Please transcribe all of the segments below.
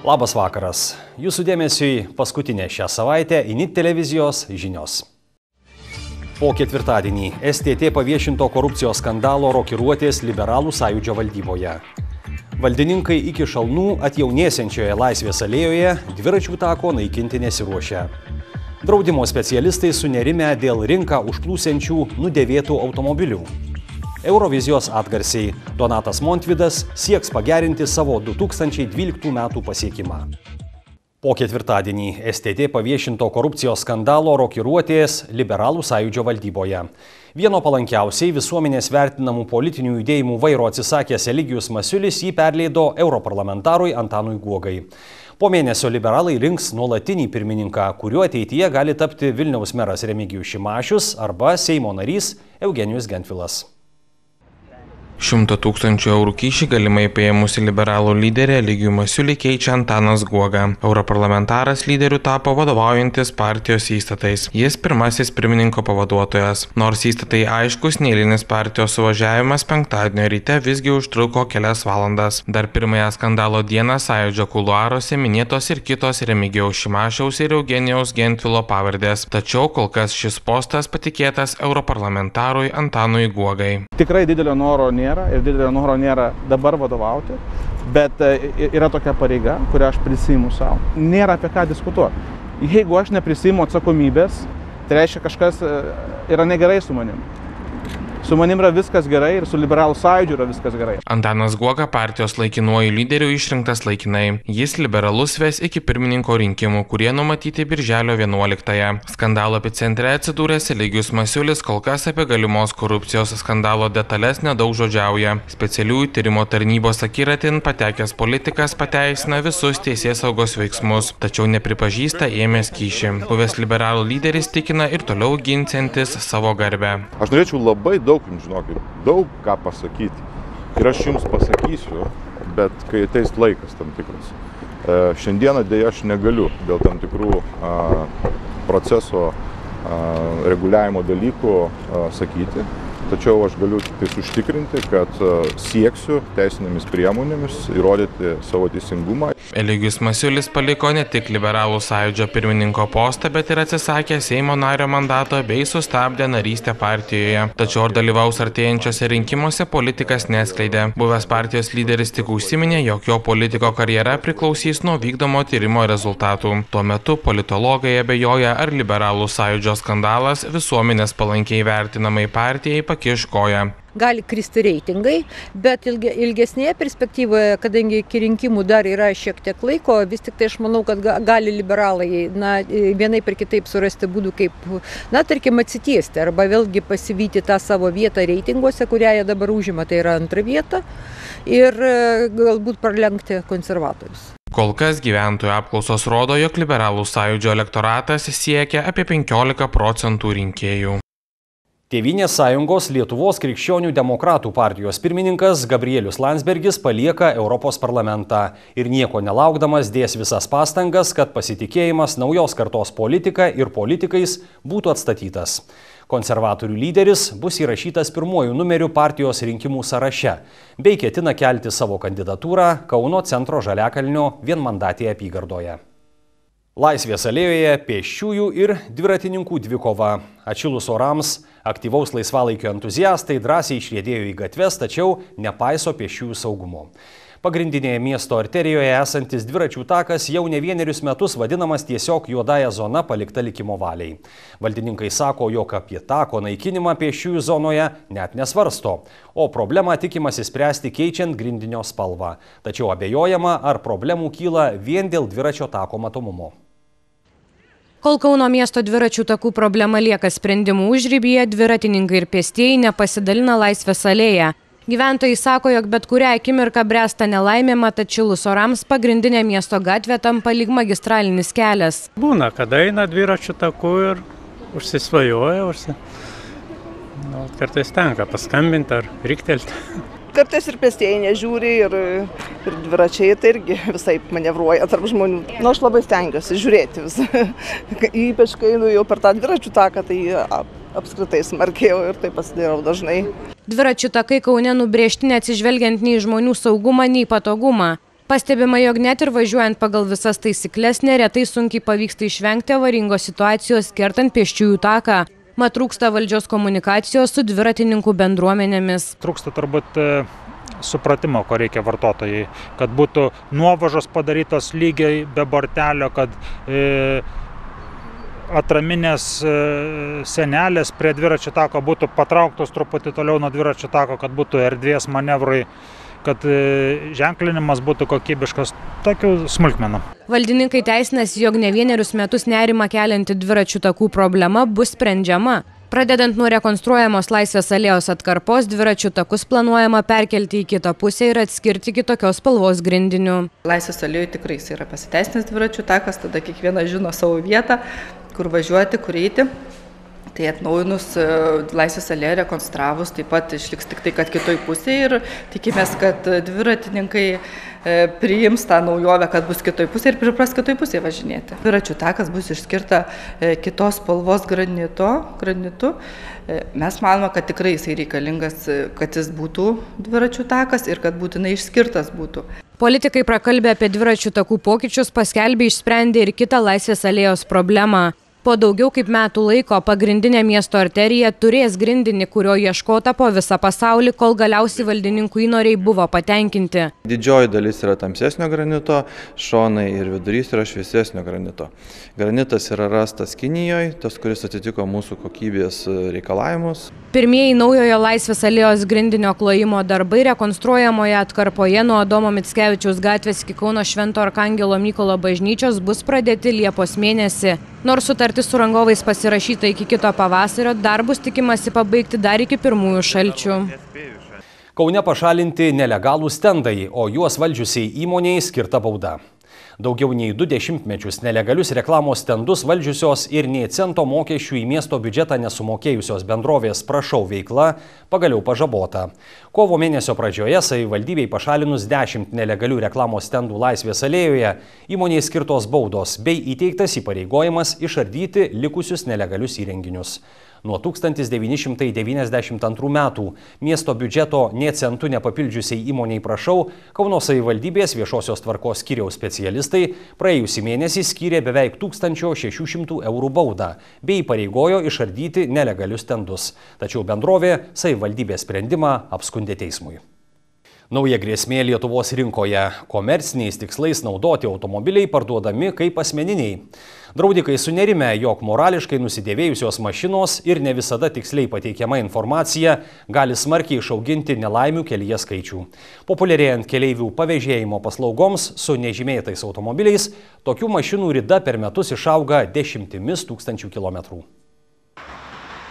Labas vakaras. Jūsų dėmesiui paskutinė šią savaitę INIT televizijos žinios. Po ketvirtadienį STT paviešinto korupcijos skandalo rokiruotės Liberalų sąjūdžio valdyboje. Valdininkai iki šalnų atjaunėsiančioje Laisvės alėjoje dviračių tako naikinti nesiruošia. Draudimo specialistai sunerimę dėl rinką užplūsiančių nudėvėtų automobilių. Eurovizijos atgarsiai. Donatas Montvydas sieks pagerinti savo 2012 metų pasiekimą. Po ketvirtadienį STT paviešinto korupcijos skandalo rokiruotės Liberalų sąjūdžio valdyboje. Vieno palankiausiai visuomenės vertinamų politinių judėjimų vairo atsisakęs Eligijus Masiulis jį perleido europarlamentarui Antanui Guogai. Po mėnesio liberalai rinks nuolatinį pirmininką, kuriuo ateityje gali tapti Vilniaus meras Remigijus Šimašius arba Seimo narys Eugenijus Gentvilas. 100 000 eurų kyšį galimai paėmusi liberalų lyderė Eligijų Masiulį keičia Antanas Guoga. Europarlamentaras lyderiu tapo vadovaujantis partijos įstatais. Jis pirmasis pirmininko pavaduotojas. Nors įstatai aiškus, neeilinis partijos suvažiavimas penktadienio ryte visgi užtruko kelias valandas. Dar pirmąją skandalo dieną sąjūdžio kuluaruose minėtos ir kitos Remigijaus Šimašiaus ir Eugenijaus Gentvilo pavardės. Tačiau kol kas šis postas patikėtas europarlamentarui Antanui Guogai. Tikrai didelio noro nėra ir didelio noro nėra dabar vadovauti, bet yra tokia pareiga, kurią aš prisiimu savo. Nėra apie ką diskutuoti. Jeigu aš neprisiimu atsakomybės, tai reiškia kažkas yra negerai su manim. Su manim yra viskas gerai ir su Liberalų sąjūdžiu yra viskas gerai. Antanas Guoga partijos laikinuoju lyderiu išrinktas laikinai. Jis liberalus ves iki pirmininko rinkimų, kurie numatyti birželio 11-ąją. Skandalo epicentre atsidūręs Eligijus Masiulis kol kas apie galimos korupcijos skandalo detalės nedaug žodžiauja. Specialiųjų tyrimo tarnybos akiratin patekęs politikas pateisina visus teisėsaugos veiksmus, tačiau nepripažįsta ėmęs kyšį. Buvęs liberalų lyderis tikina ir toliau ginsiantis savo garbę. Aš norėčiau labai daug ką pasakyti. Ir aš jums pasakysiu, bet kai ateis laikas tam tikras. Šiandieną dėja aš negaliu dėl tam tikrų proceso reguliavimo dalykų sakyti. Tačiau aš galiu tik užtikrinti, kad sieksiu teisinėmis priemonėmis įrodyti savo teisingumą. Eligijus Masiulis paliko ne tik Liberalų sąjūdžio pirmininko postą, bet ir atsisakė Seimo nario mandato bei sustabdė narystę partijoje. Tačiau ar dalyvaus artėjančiose rinkimuose politikas neskleidė. Buvęs partijos lyderis tik užsiminė, jog jo politiko karjera priklausys nuo vykdomo tyrimo rezultatų. Tuo metu politologai abejoja, ar Liberalų sąjūdžio skandalas visuomenės palankiai vertinamai partijai pakiš koją. Gali kristi reitingai, bet ilgesnėje perspektyvoje, kadangi iki rinkimų dar yra šiek tiek laiko, vis tik tai aš manau, kad gali liberalai vienai per kitaip surasti būdų, kaip, tarkim, atsitiesti arba vėlgi pasivyti tą savo vietą reitinguose, kurią jie dabar užima, tai yra antrą vietą, ir galbūt pralenkti konservatorius. Kol kas gyventojų apklausos rodo, jog Liberalų sąjūdžio elektoratas siekia apie 15% rinkėjų. Tėvynės sąjungos Lietuvos krikščionių demokratų partijos pirmininkas Gabrielius Landsbergis palieka Europos parlamentą ir nieko nelaukdamas dės visas pastangas, kad pasitikėjimas naujos kartos politika ir politikais būtų atstatytas. Konservatorių lyderis bus įrašytas pirmuoju numeriu partijos rinkimų sąraše, bei ketina kelti savo kandidatūrą Kauno centro Žaliakalnio vienmandatėje apygardoje. Laisvės alėjoje pėsčiųjų ir dviratininkų dvikova. Atšilus orams, aktyvaus laisvalaikio entuziastai drąsiai išriedėjo į gatves, tačiau nepaiso pėsčiųjų saugumo. Pagrindinėje miesto arterijoje esantis dviračių takas jau ne vienerius metus vadinamas tiesiog juodąja zona palikta likimo valiai. Valdininkai sako, jog apie tako naikinimą pėsčiųjų zonoje net nesvarsto, o problemą tikimasi spręsti keičiant grindinio spalvą. Tačiau abejojama, ar problemų kyla vien dėl dviračio tako matomumo. Kol Kauno miesto dviračių takų problema lieka sprendimų užribyje, dviratininkai ir pėstieji nepasidalina Laisvės alėją. Gyventojai sako, jog bet kurią akimirką bręsta nelaimė, mat atšilus orams pagrindinė miesto gatvė tampa lyg magistralinis kelias. Būna, kada eina dviračių takų ir užsisvajoja, kartais tenka paskambinti ar riktelti. Kartais ir pėstieji nežiūri ir dviračiai tai irgi visai manevruoja tarp žmonių. Aš labai stengiuosi žiūrėti visą. Ypač kai einu jau per tą dviračių taką, tai apskritai smarkėjau ir tai pasidarau dažnai. Dviračių takai Kaune nubrėžti neatsižvelgiant nei žmonių saugumą, nei patogumą. Pastebima, jog net ir važiuojant pagal visas taisykles, neretai sunkiai pavyksta išvengti avaringos situacijos kertant pėsčiųjų taką. Mat trūksta valdžios komunikacijos su dviratininkų bendruomenėmis. Trūksta turbūt supratimo, ko reikia vartotojai, kad būtų nuovažos padarytos lygiai be bortelio, kad atraminės senelės prie dviračių tako būtų patrauktos truputį toliau nuo dviračių tako, kad būtų erdvės manevrui, kad ženklinimas būtų kokybiškas, tokių smulkmenų. Valdininkai teisinasi, jog ne vienerius metus nerimą kelianti dviračių takų problema bus sprendžiama. Pradedant nuo rekonstruojamos Laisvės alėjos atkarpos, dviračių takus planuojama perkelti į kitą pusę ir atskirti kitokios spalvos grindinių. Laisvės alėjoje tikrai yra pasiteisinęs dviračių takas, tada kiekvienas žino savo vietą, kur važiuoti, kur eiti. Tai atnaujinus Laisvės alėją rekonstravus, taip pat išliks tik tai, kad kitoj pusėje ir tikimės, kad dviratininkai priims tą naujovę, kad bus kitoj pusėje ir pripras kitoj pusėje važinėti. Dviračių takas bus išskirta kitos spalvos granitu. Mes manome, kad tikrai jisai reikalingas, kad jis būtų dviračių takas ir kad būtinai išskirtas būtų. Politikai prakalbė apie dviračių takų pokyčius, paskelbė išsprendė ir kitą Laisvės alėjos problemą. Po daugiau kaip metų laiko pagrindinė miesto arterija turės grindinį, kurio ieškota po visą pasaulį, kol galiausiai valdininkų įnoriai buvo patenkinti. Didžioji dalis yra tamsesnio granito, šonai ir vidurys yra šviesesnio granito. Granitas yra rastas Kinijoje, tas, kuris atitiko mūsų kokybės reikalavimus. Pirmieji naujojo Laisvės alėjos grindinio klojimo darbai rekonstruojamoje atkarpoje nuo Adomo Mickevičiaus gatvės iki Kauno Švento Arkangelo Mykolo bažnyčios bus pradėti Liepos mėnesį. Nors sutartis su rangovais pasirašyta iki kito pavasario, darbus tikimasi pabaigti dar iki pirmųjų šalčių. Kaune pašalinti nelegalų stendai, o juos valdžiusiai įmonei skirta bauda. Daugiau nei 2 dešimtmečius nelegalius reklamos stendus valdžiusios ir nei cento mokesčių į miesto biudžetą nesumokėjusios bendrovės Prašau veikla pagaliau pažabota. Kovo mėnesio pradžioje savivaldybei pašalinus 10 nelegalių reklamos stendų Laisvės alėjoje įmonei skirtos baudos bei įteiktas įpareigojimas išardyti likusius nelegalius įrenginius. Nuo 1992 metų miesto biudžeto nė centu nepapildžiusiai įmoniai Prašau, Kauno savivaldybės viešosios tvarkos skyriaus specialistai praėjusį mėnesį skyrė beveik 1600 eurų baudą bei įpareigojo išardyti nelegalius stendus. Tačiau bendrovė savivaldybės sprendimą apskundė teismui. Nauja grėsmė Lietuvos rinkoje. Komerciniais tikslais naudoti automobiliai parduodami kaip asmeniniai. Draudikai sunerime, jog morališkai nusidėvėjusios mašinos ir ne visada tiksliai pateikiama informacija gali smarkiai išauginti nelaimių kelyje skaičių. Populiarėjant keleivių pavėžėjimo paslaugoms su nežymėtais automobiliais, tokių mašinų rida per metus išauga 10 000 kilometrų.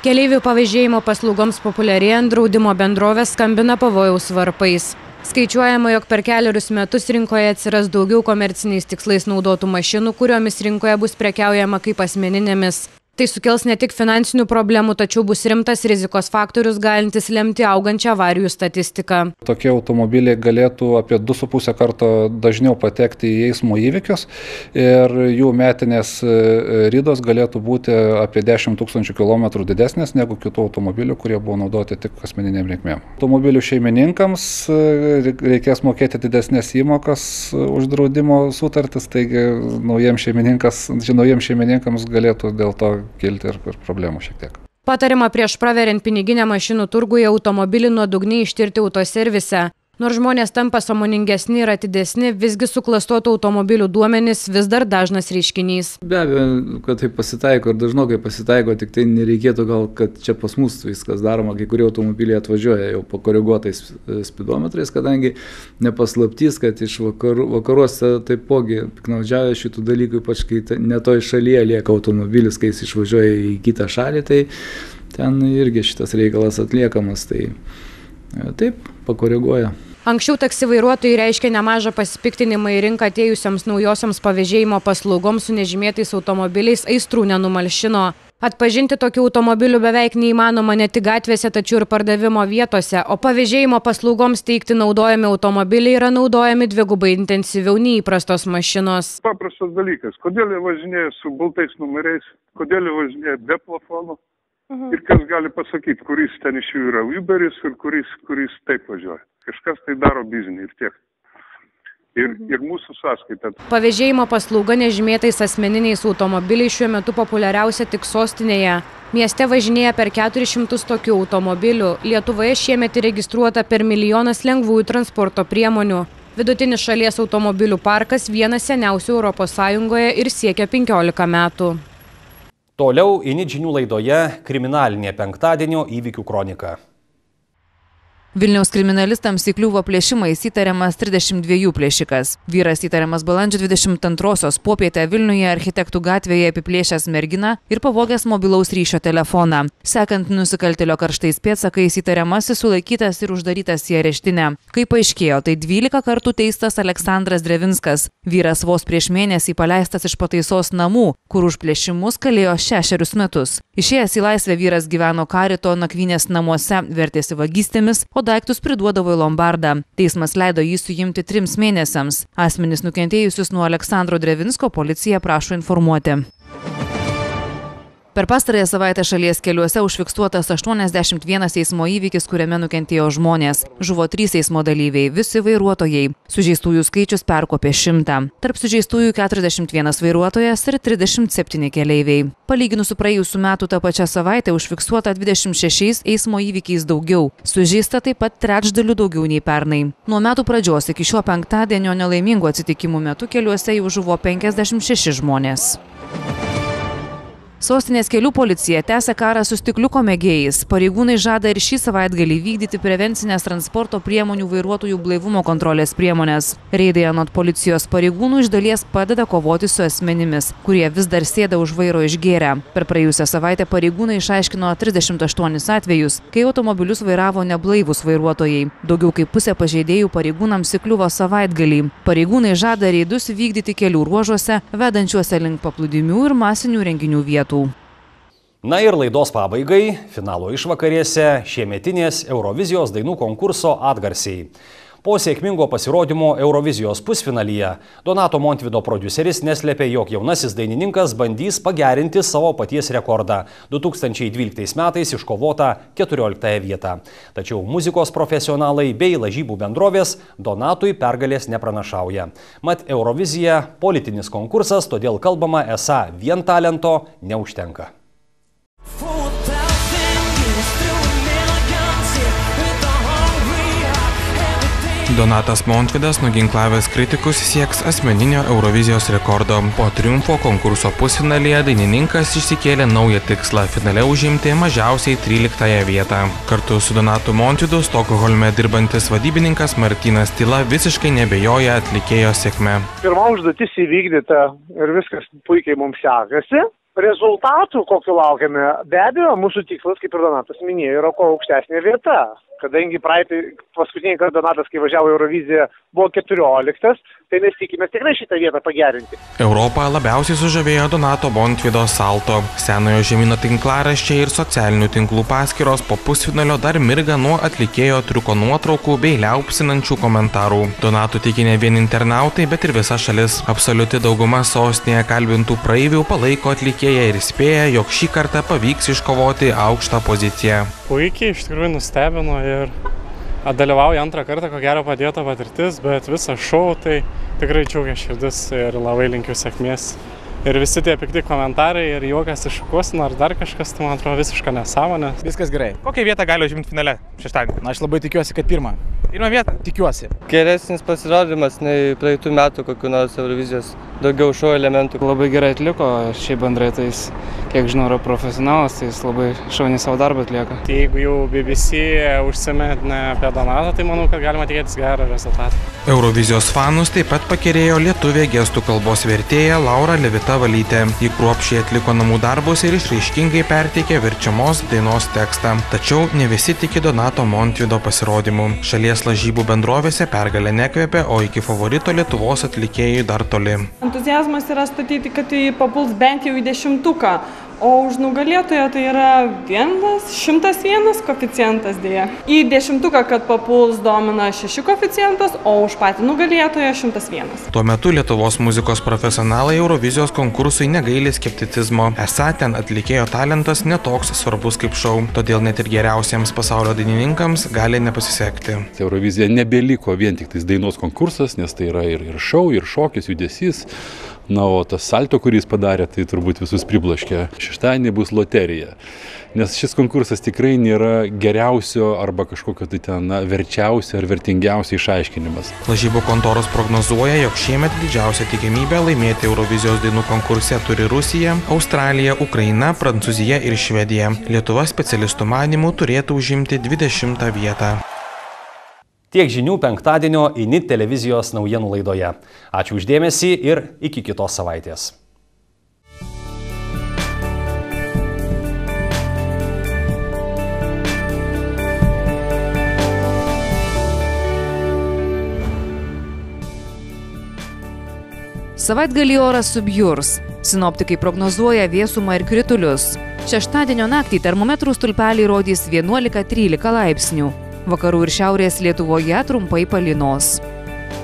Keleivių pavėžėjimo paslaugoms populiarėjant draudimo bendrovės skambina pavojaus varpais. Skaičiuojama, jog per kelerius metus rinkoje atsiras daugiau komerciniais tikslais naudotų mašinų, kuriomis rinkoje bus prekiaujama kaip asmeninėmis. Tai sukels ne tik finansinių problemų, tačiau bus rimtas rizikos faktorius galintis lemti augančią avarijų statistiką. Tokie automobiliai galėtų apie 2,5 karto dažniau patekti į eismo įvykius ir jų metinės ridos galėtų būti apie 10 000 km didesnės negu kitų automobilių, kurie buvo naudoti tik asmeniniam reikmėm. Automobilių šeimininkams reikės mokėti didesnės įmokas už draudimo sutartis, taigi naujiems šeimininkams galėtų dėl to kilti ir problemų šiek tiek. Patarima prieš praveriant piniginę mašinų turguje automobilį nuodugniai ištirti autoservise. Nors žmonės tampa sąmoningesni ir atidesni, visgi suklastotų automobilių duomenys vis dar dažnas reiškinys. Be abejo, kad tai pasitaiko ir dažnokai pasitaiko, tik tai nereikėtų gal, kad čia pas mus viskas daroma, kai kurie automobiliai atvažiuoja jau pakoreguotais spidometrais, kadangi nepaslaptys, kad iš vakaruose taipogi piknaudžiauja šitų dalykų, ypač kai ne toj šalyje lieka automobilis, kai jis išvažiuoja į kitą šalį, tai ten irgi šitas reikalas atliekamas, tai taip, pakoreguoja. Anksčiau taksi vairuotojai reiškia nemažą pasipiktinimą į rinką atėjusiams naujosioms pavėžėjimo paslaugoms su nežymėtais automobiliais aistrų nenumalšino. Atpažinti tokių automobilių beveik neįmanoma ne tik gatvėse, tačiau ir pardavimo vietose, o pavėžėjimo paslaugoms teikti naudojami automobiliai yra naudojami dvigubai intensyviau nei įprastos mašinos. Paprastas dalykas, kodėl jie važinėja su baltais numeriais, kodėl jie važinėja be plafonų. Ir kas gali pasakyti, kuris ten iš jų yra Uberis ir kuris taip važiuoja. Kažkas tai daro biznį ir tiek. ir mūsų sąskaitą. Pavėžėjimo paslauga nežymėtais asmeniniais automobiliais šiuo metu populiariausia tik sostinėje. Mieste važinėja per 400 tokių automobilių. Lietuvoje šiemet įregistruota per 1 milijonas lengvųjų transporto priemonių. Vidutinis šalies automobilių parkas vienas seniausių ES ir siekia 15 metų. Toliau INIT žinių laidoje kriminalinė penktadienio įvykių kronika. Vilniaus kriminalistams įkliuvo plėšimais įtariamas 32 plėšikas. Vyras įtariamas balandžio 22-osios popietę Vilniuje Architektų gatvėje apiplėšęs merginą ir pavogęs mobilaus ryšio telefoną. Sekant nusikaltėlio karštais pėdsakais, įtariamasis sulaikytas ir uždarytas į areštinę. Kaip paaiškėjo, tai 12 kartų teistas Aleksandras Drevinskas. Vyras vos prieš mėnesį paleistas iš pataisos namų, kur už plėšimus kalėjo 6 metus. Išėjęs į laisvę vyras gyveno Karito nakvynės namuose, vertėsi vagystėmis, o daiktus priduodavo į lombardą. Teismas leido jį suimti 3 mėnesiams. Asmenys nukentėjusius nuo Aleksandro Drevinsko policija prašo informuoti. Per pastarąją savaitę šalies keliuose užfiksuotas 81 eismo įvykis, kuriame nukentėjo žmonės. Žuvo 3 eismo dalyviai, visi vairuotojai. Sužeistųjų skaičius perkopė 100. Tarp sužeistųjų 41 vairuotojas ir 37 keleiviai. Palyginus su praėjusių metų tą pačią savaitę užfiksuota 26 eismo įvykiais daugiau. Sužeista taip pat trečdaliu daugiau nei pernai. Nuo metų pradžios iki šio penktadienio nelaimingų atsitikimų metu keliuose jau žuvo 56 žmonės. Sostinės kelių policija tęsia karą su stikliuko mėgėjais. Pareigūnai žada ir šį savaitgalį vykdyti prevencinės transporto priemonių vairuotojų blaivumo kontrolės priemonės. Reidai anot policijos pareigūnų iš dalies padeda kovoti su asmenimis, kurie vis dar sėda už vairo išgėrę. Per praėjusią savaitę pareigūnai išaiškino 38 atvejus, kai automobilius vairavo neblaivūs vairuotojai. Daugiau kaip pusė pažeidėjų pareigūnams įkliuvo savaitgalį. Pareigūnai žada reidus vykdyti kelių ruožuose, vedančiuose link paplūdimių ir masinių renginių vietų. Na ir laidos pabaigai, finalo išvakarėse šiemetinės Eurovizijos dainų konkurso atgarsiai. Po sėkmingo pasirodymo Eurovizijos pusfinalyje Donato Montvydo prodiuseris neslėpė, jog jaunasis dainininkas bandys pagerinti savo paties rekordą 2012 metais iškovotą 14 vietą. Tačiau muzikos profesionalai bei lažybų bendrovės Donatui pergalės nepranašauja. Mat Eurovizija politinis konkursas, todėl kalbama esą vien talento neužtenka. Donatas Montvydas, nuginklavęs kritikus, sieks asmeninio Eurovizijos rekordo. Po triumfo konkurso pusfinalyje dainininkas išsikėlė naują tikslą – finale užimti mažiausiai 13 vietą. Kartu su Donatu Montvydu Stokholme dirbantis vadybininkas Martynas Tyla visiškai nebejoja atlikėjo sėkme. Pirma užduotis įvykdyta ir viskas puikiai mums sekasi. Rezultatų, kokiu laukiame, be abejo, mūsų tikslas, kaip ir Donatas minėjo, yra kuo aukštesnė vieta. Kadangi paskutinį kartą Donatas, kai važiavo Euroviziją, buvo 14, tai mes tikimės tikrai šitą vietą pagerinti. Europą labiausiai sužavėjo Donato Montvydo salto. Senojo žemyno tinklaraščiai ir socialinių tinklų paskyros po pusfinalio dar mirga nuo atlikėjo triuko nuotraukų bei liaupsinančių komentarų. Donatų tiki ne vien internautai, bet ir visa šalis. Absoliuti dauguma sostinėje kalbintų praeivių palaiko atlikėją ir spėja, jog šį kartą pavyks iškovoti aukštą poziciją. Puikiai, iš tikrųjų nustebino ir dalyvauju antrą kartą, ko gero padėta patirtis, bet visą šou tai tikrai džiaugia širdis ir labai linkiu sėkmės. Ir visi tie pikti komentarai ir juokas iš šukuosino ar dar kažkas, tai man atrodo visiška nesąmonė. Viskas gerai. Kokią vietą gali užimti finale šeštadienį? Na, aš labai tikiuosi, kad pirmą. Pirmą vietą? Tikiuosi. Geresnis pasirodymas nei praeitų metų kokių nors Eurovizijos. Daugiau šou elementų. Labai gerai atliko, šiaip bendrai tai jis, kiek žinau, yra profesionalas, tai jis labai šauniai savo darbą atlieka. Tai jeigu jau BBC užsiminė apie Donatą, tai manau, kad galima tikėtis gerą rezultatą. Eurovizijos fanus taip pat pakerėjo lietuvė gestų kalbos vertėja Laura Levita Valytė. Ji kruopščiai atliko namų darbus ir išraiškingai perteikė verčiamos dainos tekstą. Tačiau ne visi tiki Donato Montvydo pasirodymu. Šalies lažybų bendrovėse pergalė nekvėpė, o iki favorito Lietuvos atlikėjai dar toli. Entuziazmas yra statyti, kad tai papuls bent jau į 10-tuką, o už nugalėtoją tai yra 101 koeficientas dėja. Į 10, kad papuls, domina 6 koeficientas, o už patį nugalėtoją 101. Tuo metu Lietuvos muzikos profesionalai Eurovizijos konkursui negaili skepticizmo. Esą ten atlikėjo talentas netoks svarbus kaip šou, todėl net ir geriausiems pasaulio dainininkams gali nepasisekti. Eurovizija nebeliko vien tik tais dainos konkursas, nes tai yra ir šou, ir šokis, judesys. Na, o tas salto, kurį jis padarė, tai turbūt visus priblaškė. Šeštadienį bus loterija, nes šis konkursas tikrai nėra geriausio arba kažkokio tai ten verčiausio ar vertingiausio išaiškinimas. Lažybų kontoros prognozuoja, jog šiemet didžiausia tikimybė laimėti Eurovizijos dainų konkurse turi Rusija, Australija, Ukraina, Prancūzija ir Švedija. Lietuva specialistų manymų turėtų užimti 20 vietą. Tiek žinių penktadienio INIT televizijos naujienų laidoje. Ačiū uždėmesį ir iki kitos savaitės. Savaitgalį oras subjurs. Sinoptikai prognozuoja vėsumą ir kritulius. Šeštadienio naktį termometrų stulpeliai rodys 11–13 laipsnių. Vakarų ir šiaurės Lietuvoje trumpai palynos.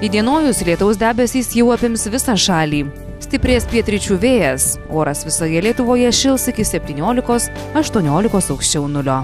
Įdienojus lietaus debesys jau apims visą šalį. Stiprės pietryčių vėjas. Oras visoje Lietuvoje šils iki 17–18 aukščiau nulio.